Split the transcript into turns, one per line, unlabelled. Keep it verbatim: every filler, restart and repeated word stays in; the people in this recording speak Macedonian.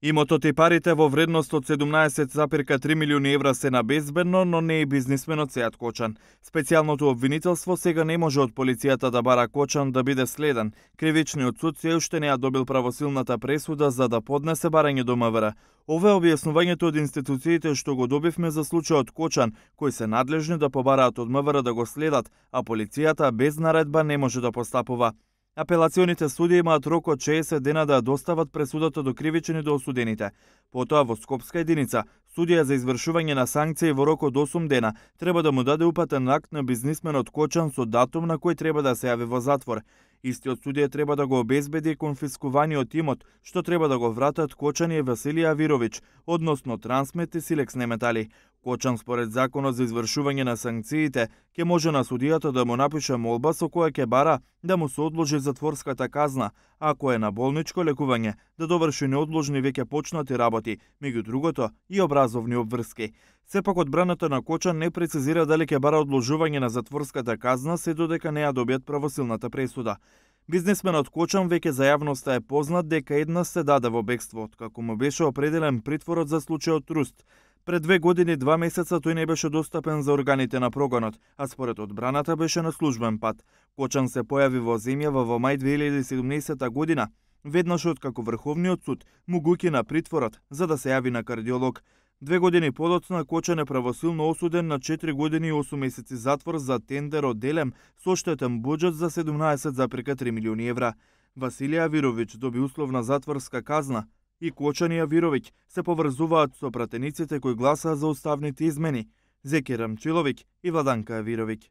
Имотот и парите во вредност од седумнаесет запирка три милиони евра се на безбедно, но не и бизнисменот Сеат Кочан. Специјалното обвинителство сега не може од полицијата да бара Кочан да биде следен. Кривичниот суд се уште не ја добил правосилната пресуда за да поднесе барање до МВР. Ова е објаснувањето од институциите што го добивме за случајот Кочан, кои се надлежни да побараат од МВР да го следат, а полицијата без наредба не може да постапува. Апелационите суди имаат рок од шеесет дена да ја достават пресудата до кривични до осудените. Потоа во Скопска единица, судија за извршување на санкции во рок од осум дена треба да му даде упатен акт на бизнисменот Кочан со датум на кој треба да се јави во затвор. Истиот судија треба да го обезбеди конфискуваниот имот, што треба да го вратат Кочан и Василија Авировиќ, односно Трансмет и Силекс Неметали. Кочан според законот за извршување на санкциите ќе може на судијата да му напише молба со која ќе бара да му се одложи затворската казна, ако е на болничко лекување, да доврши неодложни веќе почнати работи, меѓу другото и образовни обврски. Сепак одбраната на Кочан не прецизира дали ќе бара одложување на затворската казна се додека не ја добијат правосилната пресуда. Бизнисменот Кочан веќе за јавноста е познат дека еднаш се даде во бегство, откако му беше определен притворот за случајот Труст. Пред две години два месеца тој не беше достапен за органите на прогонот, а според одбраната беше на службен пат. Кочан се појави во земјава во мај две илјади и седумнаесета година, веднаш откако Врховниот суд му го укина притворот за да се јави на кардиолог. Две години подоцна Кочан е правосилно осуден на четири години и осум месеци затвор за тендер од Делем со штетен буџет за седумнаесет запирка три милиони евра. Василија Авировиќ доби условна затворска казна и Кочан и Авировиќ се поврзуваат со пратениците кои гласаа за уставните измени, Зеки Рамчиловиќ и Владанка Авировиќ.